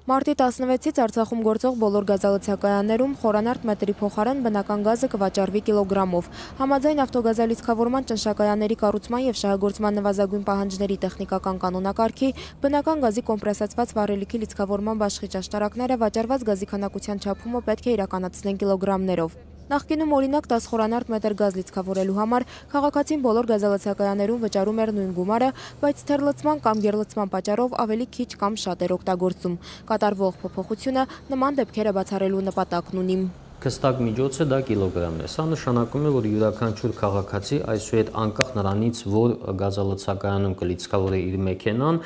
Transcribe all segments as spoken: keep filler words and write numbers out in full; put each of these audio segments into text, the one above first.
Մարտի տասնվեցից Արցախում գործող բոլոր գազալցակայաններում խորանարդ մետրի փոխարեն բնական գազը կվաճառվի կիլոգրամով։ Համաձայն ավտոգազալիցքավորման ճնշակայանների կառուցման և շահագործման նվազագույն պահանջների տեխնիկական կանոնակարգի բնական գազի կոմպրեսացված վառելիքի լիցքավորման բաշխիչ աշտարակները վաճառված գազի քանակության չափումը պետք է իրականացնեն կիլոգրամներով։ Նախկինում օրինակ դես խորանարդ մետր գազ լիցքավորելու համար քաղաքացին բոլոր գազալցակայաններում վճարում էր նույն գումարը, բայց թերլցման կամ գերլցման պատճառով ավելի քիչ կամ շատ էր օգտագործում։ Կատարվող փոփոխությունը նման դեպքերը բացառելու նպատակն ունի։ Հստակ միջոցը դա կիլոգրամն է։ Սա նշանակում է, որ յուրաքանչյուր քաղաքացի այսուհետ անկախ նրանից, որ գազալցակայանում կլիցքավորի իր մեքենան,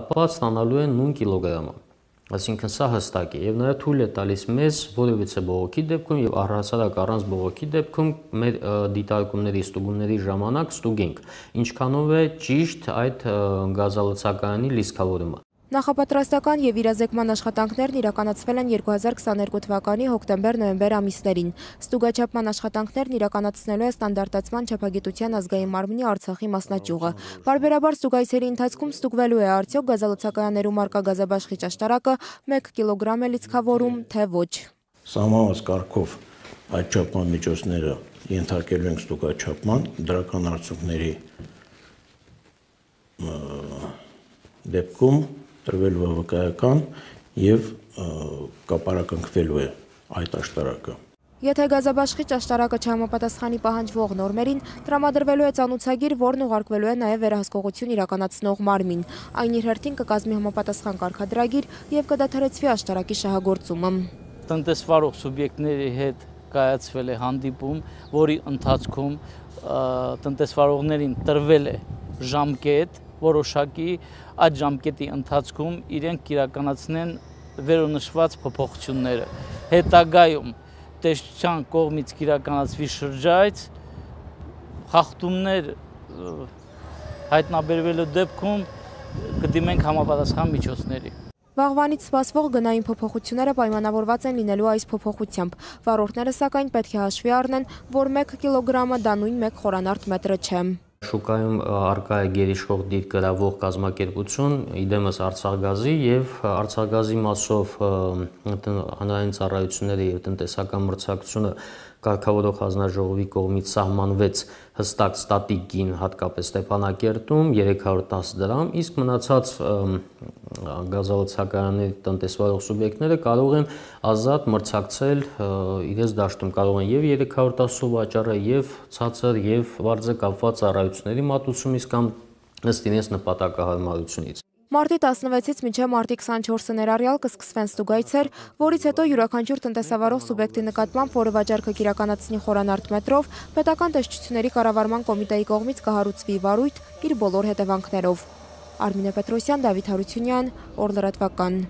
ապա ստանալու է նույն կիլոգրամը։ Այսինքն սա հստակ է եւ նաեւ թույլ է տալիս մեզ որևիցե բողոքի դեպքում եւ առհասարակ առանց բողոքի դեպքում մեր դիտարկումների ստուգումների ժամանակ ստուգենք ինչքանով է ճիշտ այդ գազալցակայանի լիցքավորումը։ Նախապատրաստական և իրազեկման աշխատանքներն իրականացվել են երկու հազար քսաներկու թվականի հոկտեմբեր-նոյեմբեր ամիսներին։ Ստուգաչափման աշխատանքներն իրականացնելու է ստանդարտացման չափագիտության ազգային մարմնի Արցախի մասնաճյուղը։ Պարբերաբար ստուգայցերի ընթացքում ստուգվելու է արդյոք գազալցակայաններում առկա գազաբաշխիչ աշտարակը մեկ կիլոգրամ է լիցքավորում, թե ոչ։ Սահմանված կարգով այդ չափման միջոցները ենթարկելու ենք ստուգաչափման, դրական արդյունքների դեպքում տրվելու է վկայական և կապարակնքվելու է այդ աշտարակը։ Եթե գազաբաշխիչ աշտարակը չհամապատասխանի պահանջվող նորմերին, տրամադրվելու է ծանուցագիր, որն ուղարկվելու է նաև վերահսկողություն իրականացնող մարմին։ Այն իր հերթին կկազմի համապատասխան կարգադրագիր և կդադարեցվի աշտարակի շահագործումը։ Տնտեսվարող սուբյեկտների հետ կայացվել է հանդիպում, որի ընթացքում տնտեսվարողներին տրվել է ժամկետ որոշակի, այդ ժամկետի ընթացքում իրենք իրականացնեն վերոնշված փոփոխությունները։ Հետագայում տեսչության կողմից իրականացվի շրջայց, խախտումներ հայտնաբերվելու դեպքում կդիմենք համապատասխան միջոցների։ Վաղվանից սպասվող գնային փոփոխությունները պայմանավորված են լինելու այս փոփոխությամբ։ Վարորդները սակայն պետք է հաշվի առնեն, որ մեկ կիլոգրամը դա նույն մեկ խորանարդ մետրը չէ։ Շուկայում առկա է գերիշխող դիրք գրավող կազմակերպություն, իդեմս Արցախգազի և Արցախգազի մասով հանրային ծառայությունները և տնտեսական մրցակցությունը կարգավորող հանձնաժողովի կողմից սահմանվեց հստակ ստատիկ գին, հատկապես Ստեփանակերտում երեք հարյուր տասը դրամ, իսկ մնացած գազալցակայանների տնտեսվարող սուբյեկտները կարող են ազատ մրցակցել իրենց դաշտում, կարող են և երեք հարյուր տասը վաճառել, և ցածր, և բարձր կապված ծառայությունների մատուցումից կամ ըստ իրենց նպատակահարմարությունից։ Մարտի տասնվեցից մինչև մարտի քսանչորսը ներառյալ կսկսվեն ստուգայցեր, որից հետո յուրաքանչյուր տնտեսավարող սուբյեկտի նկատմամբ, որը վաճառքը կիրականացնի խորանարդ մետրով, պետական տեսչությունների կառավարման կոմիտեի կողմից կհարուցվի վարույթ իր բոլոր հետևանքներով։ Արմինե Պետրոսյան, Դավիթ Հարությունյան, Օր լրատվական։